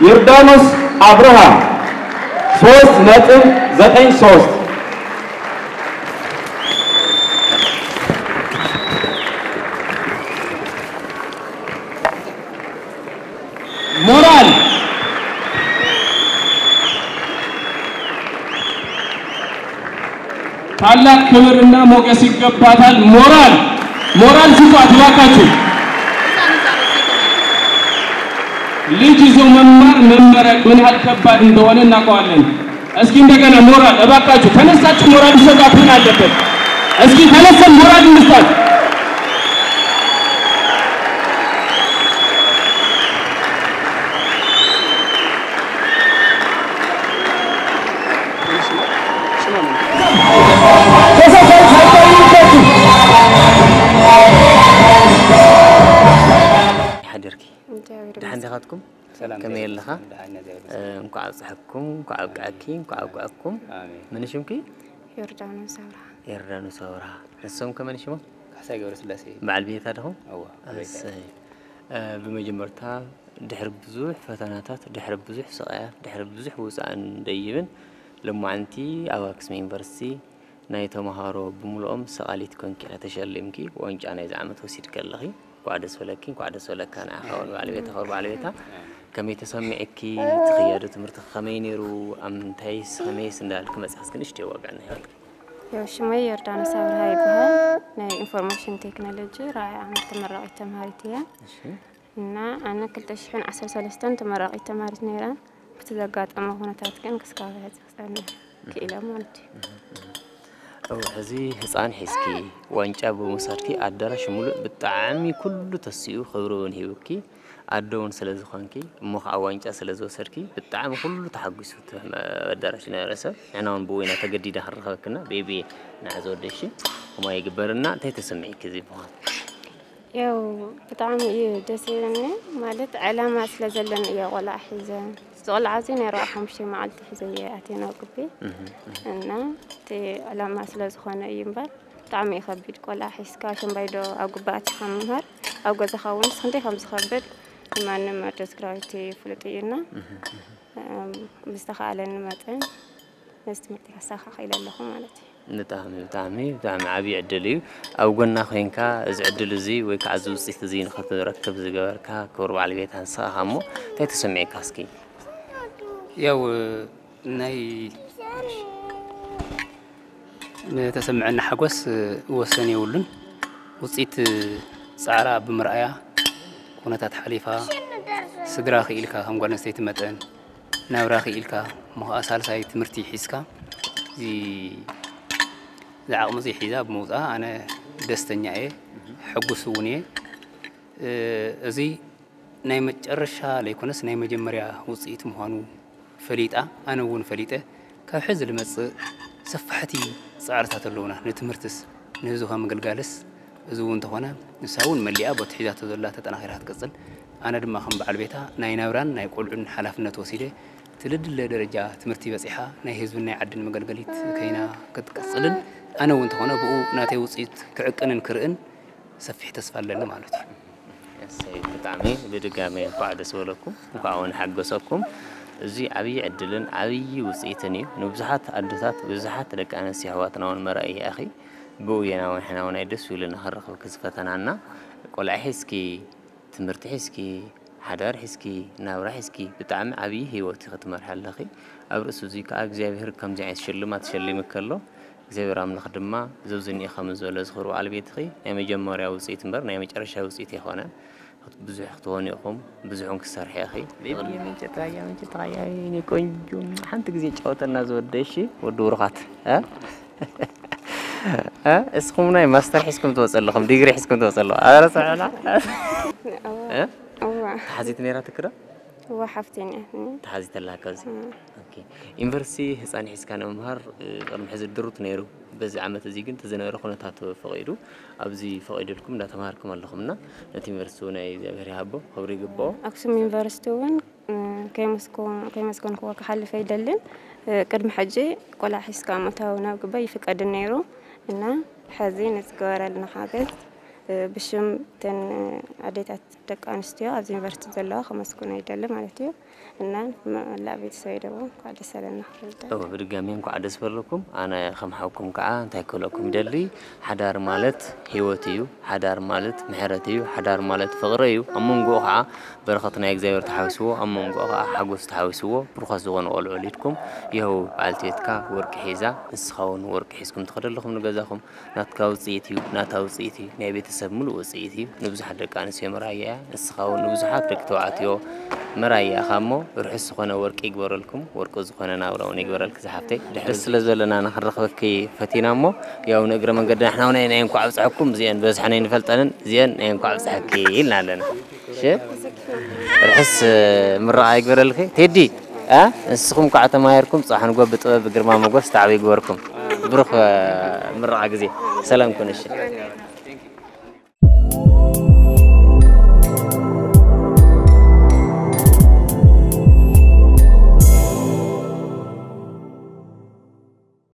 ዮርዳኖስ ኣብርሃ ሶስት ነጥብ ዘጠኝ ሶስት። ሞራል ታላቅ ክብርና ሞገስ ይገባታል። ሞራል ሞራል ስጧት እባካችሁ። ልጅ ይዞ መማር መመረቅ ምን ያህል ከባድ እንደሆነ እናውቀዋለን። እስኪ እንደገና ሞራል እባካችሁ ተነሳችሁ፣ ሞራል ይሰጣት ምን አለበት? እስኪ ተነስተን ሞራል እንስጣት። ሓዲርኪ? ደሓን ዲኻትኩም? ከመይ ኣለኻ? እንኳዕ ኣብፀሐኩም፣ እንኳዕ ኣብቅዐኪ፣ እንኳዕ ኣብቅዐኩም። መን ሽምኪ? ዮርዳኖስ ኣብርሃ። ዮርዳኖስ ኣብርሃ። ንሶም ከ መን ሽሞም? ካሕሳይ ገብረስላሴ። በዓል ቤታ ዲኹም? እወ፣ በዓል ቤታ። እሰይ። ብመጀመርታ ድሕሪ ብዙሕ ፈተናታት፣ ድሕሪ ብዙሕ ስቓያት፣ ድሕሪ ብዙሕ ውፃእን ደይብን ሎማዓንቲ ኣብ ኣክሱም ዩኒቨርሲቲ ናይ ተምሃሮ ብምልኦም ሰቓሊት ኮንኪ ኢኻ ተሸሊምኪ፣ ዋንጫ ናይዚ ዓመት ወሲድኪ ኣለኺ። እንኳዕ ደስ በለኪ፣ እንኳዕ ደስ በለካ ንዓኻ እውን በዓል ቤታ፣ ክቡር በዓል ቤታ። ከመይ ተሰሚዕኪ? እቲ ክያዶ ትምህርቲ ከመይ ነይሩ? ኣብ ምንታይስ ከመይስ እንዳበልኪ መጺእኪ እስኪ ንእሽተይ ዋግዕና ይሃልኪ። ያው ሽመይ ዮርዳኖስ ኣብርሃ ይበሃል። ናይ ኢንፎርሜሽን ቴክኖሎጂ ራብዓይ ዓመት ተመራቒት ተምሃሪት እየ። እሺ። እና ኣነ ክልተ ሽሕን ዓሰርተ ሰለስተን ተመራቒት ተምሃሪት ነይረ። ብቲ ዘጋጠመ ኩነታት ግን ክስካብ ሕዚ ክጸንሕ ክኢለ ማለት እዩ። እው፣ ሕዚ ህፃን ሒዝኪ ዋንጫ ብምውሳድኪ ኣዳራሽ ሙሉእ ብጣዕሚ ኩሉ ተሲኡ ክብሪ እውን ሂቡኪ፣ ኣደ እውን ስለ ዝኾንኪ፣ እሞ ከዓ ዋንጫ ስለ ዝወሰድኪ ብጣዕሚ ኩሉ ተሓጒሱ እቲ ኣዳራሽ ዝነበረ ሰብ። ንሕና እውን ብኡ ኢና ተገዲዳ ክንረኸበክና ቤቢ ንዓ ዝወደሽ። ከምኡ ይግበርና። እንታይ ተሰሚዕኪ እዚ ምዃኑ? ያው ብጣዕሚ እዩ ደስ ይብለኒ። ማለት ዕላማ ስለ ዘለኒ እየ ቆልዓ ሒዘ። እዚ ቆልዓ እዚ ናይ ኣርብዓ ሓሙሽተ መዓልቲ ሒዘ እየ ኣትየ ናብ ግቢ። እና እቲ ዕላማ ስለ ዝኾነ እዩ እምበር ብጣዕሚ እዩ ከቢድ። ቆልዓ ሒዝካ ሸምባይዶ ኣብ ግቢ ኣቲኻ ምምሃር ኣብ ገዛኻ እውን ክንደይ ከም ዝኸብድ ንማንም ኣደ ትግራዊት ፍሉጥ እዩ። እና ብዝተኻእለኒ መጠን ነዚ ትምህርቲ ከሳኻ ክኢለ ኣለኹ ማለት እዩ። ብጣዕሚ ብጣዕሚ ብጣዕሚ ዓብዪ ዕድል እዩ። ኣብ ጎና ኮይንካ እዚ ዕድል እዚ ወይ ከዓ እዚ ውፅኢት እዚ ንክትረክብ ዝገበርካ ክቡር በዓል ቤታ ንስኻ እሞ እንታይ ተሰሚዕካ እስኪ? ያው ናይ ንተሰምዐኒ ሓጎስ ወሰን የብሉን። ውፅኢት ፃዕራ ብምርኣያ ኩነታት ሓሊፋ ስድራ ክኢልካ ከም ጓል ኣንስተይቲ መጠን ናብራ ክኢልካ እሞ ከዓ ሳልሳይ ትምህርቲ ሒዝካ እዚ ዝዓቕሚ እዚ ሒዛ ብምውፅኣ ኣነ ደስተኛ እየ፣ ሕጉስ እውን እየ። እዚ ናይ መጨረሻ ለይኮነስ ናይ መጀመርያ ውፅኢት ምዃኑ ፈሊጣ ኣነ እውን ፈሊጠ ካብ ሕዚ ዝመፅእ ሰፋሕቲ ፃዕርታት ኣለውና። ንትምህርትስ ንህዝቢ ካብ ምግልጋልስ እዚ እውን እንተኾነ ንሳ እውን መሊኣ ቦቲ ሒዛቶ ዘላ ተጠናኺራ ክትቅፅል ኣነ ድማ ከም በዓል ቤታ ናይ ናብራን ናይ ቆልዑን ሓላፍነት ወሲደ ትልድለ ደረጃ ትምህርቲ በፂሓ ናይ ህዝብን ናይ ዓድን መገልገሊት ከይና ክትቅፅልን ኣነ እውን እንተኾነ ብኡ ናተይ ውፅኢት ክዕቅንን ክርእን ሰፊሕ ተስፋ ኣለኒ ማለት እዩ። እሰይ ብጣዕሚ ብድጋሜ እንኳዕ ደስ በለኩም እንኳዕ እውን ሓገሰኩም። እዚ ዓብዪ ዕድልን ዓብዪ ውፅኢትን እዩ። ንብዙሓት ኣዶታት ብዙሓት ደቂ ኣንስትዮ ኣሕዋትና እውን መርኣይ ኢኺ። ብኡ ኢና እውን ሕና እውን ኣይ ደስ ኢሉና ክንረኽብኪ ዝፈተናና። ቆልዓ ሒዝኪ ትምህርቲ ሒዝኪ ሓዳር ሒዝኪ ናብራ ሒዝኪ ብጣዕሚ ዓብዪ ህይወት ኢኺ ትመርሒ ኣለኺ። ኣብ ርእሲ እዚ ከዓ እግዚኣብሔር ከምዚ ዓይነት ሽልማት ሸሊምኪ ኣሎ። እግዚኣብሔር ኣምላኽ ድማ ዘብዝኒኡ ከም ዝበሎ ዝኽሪ በዓል ቤትኺ ናይ መጀመርያ ውፅኢት እምበር ናይ መጨረሻ ውፅኢት ኣይኮነን። ብዙሕ ክትኾኑ ኢኹም፣ ብዙሕ እውን ክትሰርሒ ኢኺ። ቤቢ መንጨት ራያ መንጨት ራያ የኔ ቆንጆ ሓንቲ ግዜ ጫወተልና ዝወደ እሺ ወዲ ብሩኻት እ? እ? እስኹም ናይ ማስተር ሒዝኩም ትወፁ ኣለኹም ዲግሪ ሒዝኩም ትወፁ ኣለኹም ኣረ ስምዕና እ? እዋ ተሓዚት ነይራ ትክዶ? እዋ ሓፍተይ ነያ ተሓዚት ኣለካ ኣብዚ እ። ኦኬ። ዩኒቨርሲቲ ህፃን ሒዝካ ንምምሃር እ፣ ቅድሚ ሕዚ ድሩት ነይሩ በዚ ዓመት እዚ ግን ተዝነበረ ኩነታት ፈቒዱ ኣብዚ ፈቒዱልኩም እንዳተምሃርኩም ኣለኹም እና ነቲ ዩኒቨርሲቲ እውን ናይ እግዚኣብሔር ይሃቦ ክብሪ ይግብኦ። ኣክሱም ዩኒቨርሲቲ እውን እ፣ ከይመስኮ- ከይመስገንክዎ ክሓልፍ ኣይደልን። እ፣ ቅድሚ ሕጂ ቆልዓ ሒዝካ ምእታው ናብ ግበይ ይፍቀድን ነይሩ እና ሕዚ ንዝገበረልና ሓገዝ ብሽም እተን ኣዴታት ደቂ ኣንስትዮ ኣብዚ ዩኒቨርሲቲ ዘለዋ ከመስግኖ ይደሊ ማለት እዩ። እና መላእ ቤተሰበይ ደሞ እንኳዕ ደስ ኣለና ክብል እደሊ። እወ፣ ብድጋሚ እንኳዕ ደስ በለኩም። ኣነ ከም ሓውኩም ከዓ እንታይ ክብለኩም ይደሊ፣ ሓዳር ማለት ህይወት እዩ። ሓዳር ማለት ምሕረት እዩ። ሓዳር ማለት ፍቕሪ እዩ። ኣብ መንጎኡ ከዓ በረኸት ናይ እግዚኣብሔር ተሓዊስዎ፣ ኣብ መንጎኡ ከዓ ሓጎስ ተሓዊስዎ፣ ብሩኻት ዝኾኑ ቆልዑ ወሊድኩም። ይኸው በዓልቲ ቤትካ ወርቂ ሒዛ፣ ንስኻ እውን ወርቂ ሒዝኩም ትኸደለኹም ንገዛኹም። ናትካ ውፅኢት እዩ፣ ናታ ውፅኢት እዩ፣ ናይ ቤተሰብ ሙሉእ ውፅኢት እዩ። ንብዙሓት ደቂ ኣንስትዮ መርኣያ እያ። ንስኻ እውን ንብዙሓት ደቂ ተባዕትዮ መርኣያ ኢኻ እሞ፣ ርሑስ ዝኾነ ወርቂ ይግበረልኩም፣ ወርቂ ዝኾነ ናብራ እውን ይግበረልኪ ዝሓፍተይ። ድሕር ስለ ዘለና ንኽንረኽበኪ ፈቲና እሞ፣ ያው ንእግረ መንገዲ ንሕና እውን ናይ እንኳዕ ኣብፀሐኩም፣ እዚአን በዝሐን ኣይንፈልጠንን፣ እዚአን ናይ እንኳዕ ኣብፀሐኪ ኢልና ኣለና። እሺ? ርሑስ ምረቓ ይግበረልኪ። ቴዲ፣ እ? ንስኹም ከዓ ተማሂርኩም፣ ጽባሕ ንግሆ ብጥበብ ብግርማ ሞገስ ተዓብዩ ይግበርኩም። ብሩኽ ምረቓ ግዜ። ሰላም ኩኑ። እሺ።